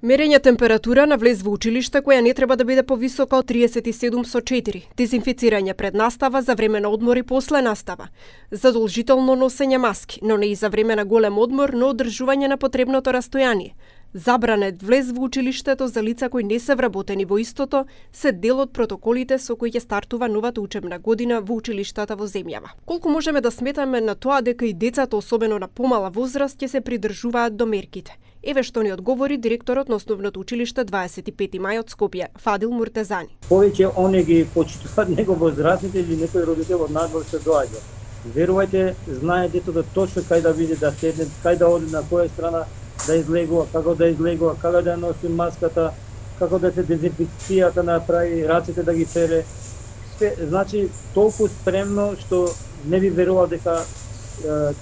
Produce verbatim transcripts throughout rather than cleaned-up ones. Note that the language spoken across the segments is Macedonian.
Мерење температура на влез во училиште која не треба да биде повисока од триесет и седум со четири. Дезинфицирање пред настава, за време на одмор и после настава. Задолжително носење маски, но не и за време на голем одмор, но одржување на потребното растојание. Забранет влез во училиштето за лица кои не се вработени во истото се дел од протоколите со кои ќе стартува новата учебна година во училиштата во земјава. Колку можеме да сметаме на тоа дека и децата, особено на помала возраст, ќе се придржуваат до мерките? Еве што ни одговори директорот на Основното училиште дваесет и пети мај од Скопје, Фадил Муртезани. Повеќе они ги почитуваат него возрастните или некој родител од надвор се доаѓа. Верувајте, знае детето точно кај да биде да седне, кај да оди, на која страна да излегува, како да излегува, како да носи маската, како да се дезинфекцијата направи, рацете да ги пере. Све, значи, толку спремно што не би верувал дека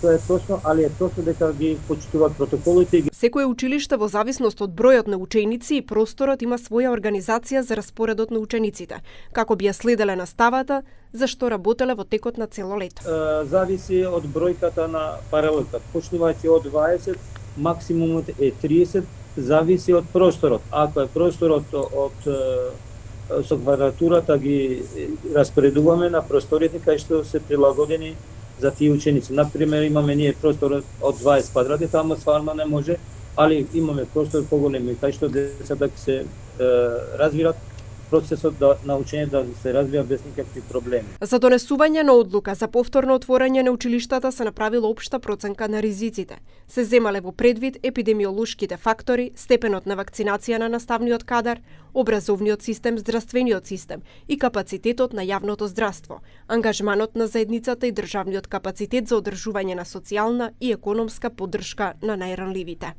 тоа е точно, али е точно дека ги почитуваат протоколите. Секое училиште во зависност од бројот на ученици и просторот има своја организација за распоредот на учениците, како би ја следеле наставата, за што работеле во текот на цело лето. Зависи од бројката на паралелката. Почнувајќи од дваесет, максимумот е триесет, зависи од просторот. Ако е просторот од со квадратурата ги распоредуваме на просториите кај што се прилагодени за тие ученици. Например, имаме ние простор од дваесет квадрати, таму стварно не може, али имаме простор поголеми кај што децата се е, развиваат, процесот да, на учење да се развива без никакви проблеми. За донесување на одлука за повторно отворање на училиштата се направила општа проценка на ризиците. Се земале во предвид епидемиолошките фактори, степенот на вакцинација на наставниот кадар, образовниот систем, здравствениот систем и капацитетот на јавното здравство, ангажманот на заедницата и државниот капацитет за одржување на социјална и економска поддршка на најранливите.